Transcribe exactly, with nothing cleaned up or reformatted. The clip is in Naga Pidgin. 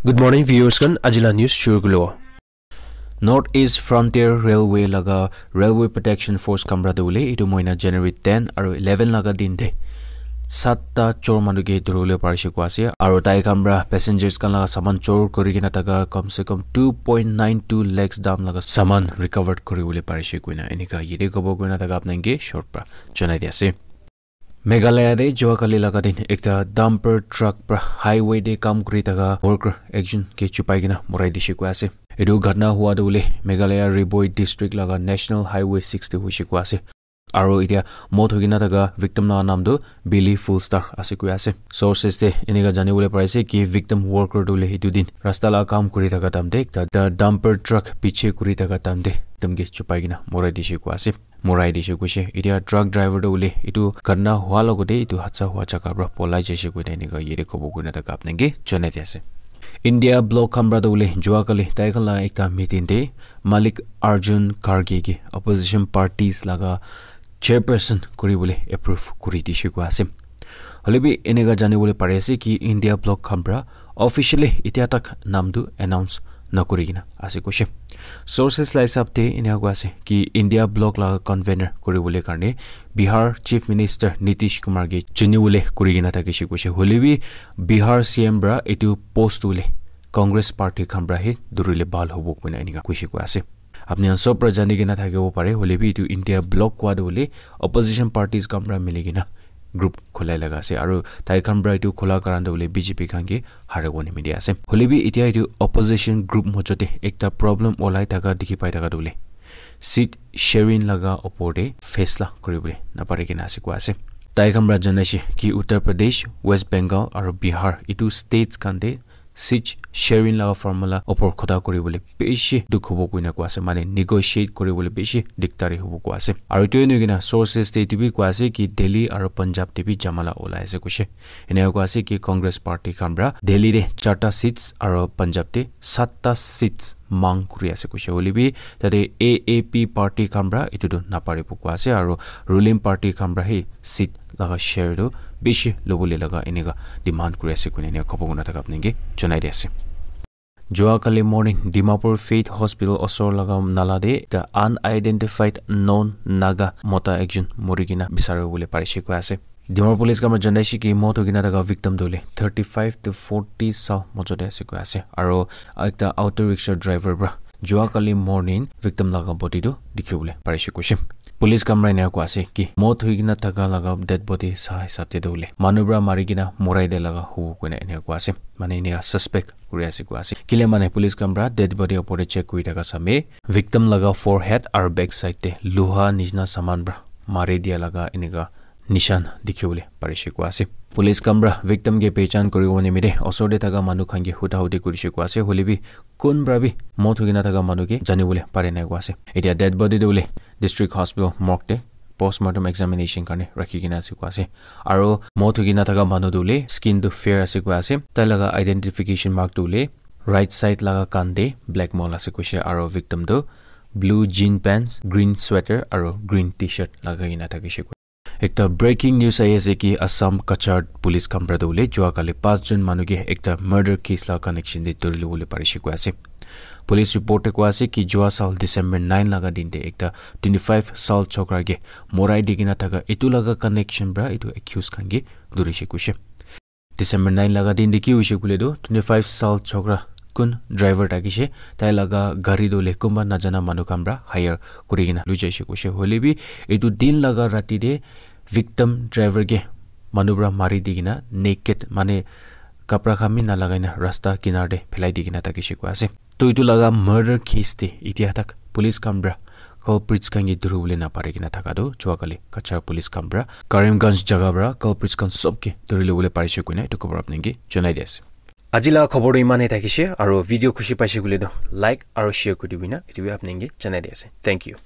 Good morning, viewers khan. Ajila news shuru kulo. North East Frontier Railway laga Railway Protection Force khan para tu hoile etu mohina January ten aru eleven laga din te satta chor manu ke dhuribole parise koi ase, aru tai khan para passengers khan laga saman chor kuri kena thaka kam se kam two point nine two lakhs dam laga saman recover kuribole parise koina enika yate kobo koina thaka apnai ke short para janai di ase. Meghalaya te jua kali laga din ekta dumper truck para highway te kam kuri thaka worker ekjon ke chupai kena morai dise koi ase. Etu ghatna hua tu hoile Meghalaya Ri Bhoi district laga National Highway six te hoise koi ase. Aru etia mot hoi kena thaka victim laga naam tu Billy Fullstar ase koi ase. Sources te enika jani bole pari ase ki victim worker tu hoile etu din rasta laga kam kuri thaka time te ekta dumper truck piche kuri thaka time te ekdam ke chupai kena morai dise koi ase. Morai dise koise. Etia truck driver tu hoile etu ghatna hua logote etu hadsa hua jaga para polai jaise koina enika yate kobo koina thaka apnai ke janai di ase. India bloc khan para tu hoile jua kali tai khan laga ekta meeting te Malik Arjun Kharge ke opposition parties laga chairperson kuri bole approve kuri dise koi ase. Hoile bi enika jani bole pari ase ki India bloc khan para officially etia tak naam tu announce nakuri kena ase koise. Sources la hisab te enika koi ase ki India bloc laga convener kuri bole karne Bihar Chief Minister Nitish Kumar ke chuni bole kuri kena thakise koise. Hoile bi Bihar C M para etu post hoile Congress party khan para he dhurile bhal hobo koina enika koise koi ase. Apni khan sob para jani kena thakibo pare, hoile bi etu India bloc kua tu hoile opposition parties khan para mili kena group khulai laga ase, aru tai khan para etu khula karan tu hoile B J P khan ke haribo nimite ase. Hoile bi etia etu opposition group mojo te ekta problem olai thaka dikhi pai thaka tu hoile seat sharing laga opor te faisla kuri bole napari kena ase koi ase. Tai khan para janai se ki Uttar Pradesh, West Bengal aru Bihar etu states khan te seat sharing laga formula opor kotha kuri bole bishi dukh hobo koina koi ase, mane negotiate kuri bole bishi dikdari hobo koi ase. Aru etu ena kena sources te etu bi koi ase ki Delhi aru Punjab te bi jamala olai ase koise. Enika koi ase ki Congress party khan para Delhi te charta seats aru Punjab te satta seats mang kuri ase koise. Hoile bi tate A A P party khan para etu tu naparibo koi ase, aru ruling party khan para he seat laga share tu bishi lobole laga enika demand kuri ase koina enika kobo koina thaka apnai ke janai di ase. Jua kali morning Dimapur Faith Hospital osor laga nala te ekta unidentified non Naga mota ekjon muri kena bisari bole parise koi ase. Dimapur police khan para janai se ki mot hoi kena thaka victim tu hoile thirty five to forty saal mojo te ase koi ase, aru ekta auto rickshaw driver para jua kali morning victim laga body tu dikhi bole parise koise. Police khan para enika koi ase ki mot hoi kena thaka laga dead body sa hisab te tu hoile manu para mari kena morai dia laga hobo koina enika koi ase, mane enika suspect kuri ase koi ase. Kile mane police khan para dead body opor te check kuri thaka samey victim laga forehead aru back side te loha nishina saman para mari dia laga enika nishan dikhi bole parise koi ase. Police khan para victim ke pehchan kuri bo nimite osor te thaka manu khan ke huda hudi kurise koi ase, hoile bi kun para bi mot hoi kena thaka manu ke jani bole pare nai koi ase. Etia dead body tu hoile District Hospital morgue te postmortem examination karne rakhi kena ase koi ase. Aru mot hoi kena thaka manu tu hoile skin tu fair ase koi ase. Tai laga identification mark tu hoile right side laga kan te black mole ase koise, aru victim tu blue jean pants, green sweater aru green T-shirt lagai kena thakise koi. Ekta breaking news ahi ase ki Assam Cachar police khan para tu hoile jua kali pas jon manu ke ekta murder case laga connection te dhuri lobole parise koi ase. Police report te koi ase ki jua saal December nine laga din te ekta twenty five saal chokra ke morai di kena thaka etu laga connection para etu accused khan ke dhurise koise. December nine laga din te ki hoise koile tu twenty five saal chokra kun driver thakise, tai laga gari tu hoile kunba najana manu khan para hire kuri kena loi jaise koise. Hoile bi etu din laga rati te victim driver ke manu para mari di kena naked, mane kapra khan bi nalagai na rasta kinar te phelai di kena thakise koi ase. To etu laga murder case te etia tak police khan para culprits khan ke dhuri bole napari kena thaka tu jua kali Cachar police khan para Karimganj jaga para culprits khan sob ke dhuri lobole parise koina etu khobor apnai ke janai di ase. Aji laga khobor tu iman e thakise, aru video khushi paise koile tu like aru share kuri dibi na etu bi apnai ke janai di ase. Thank you.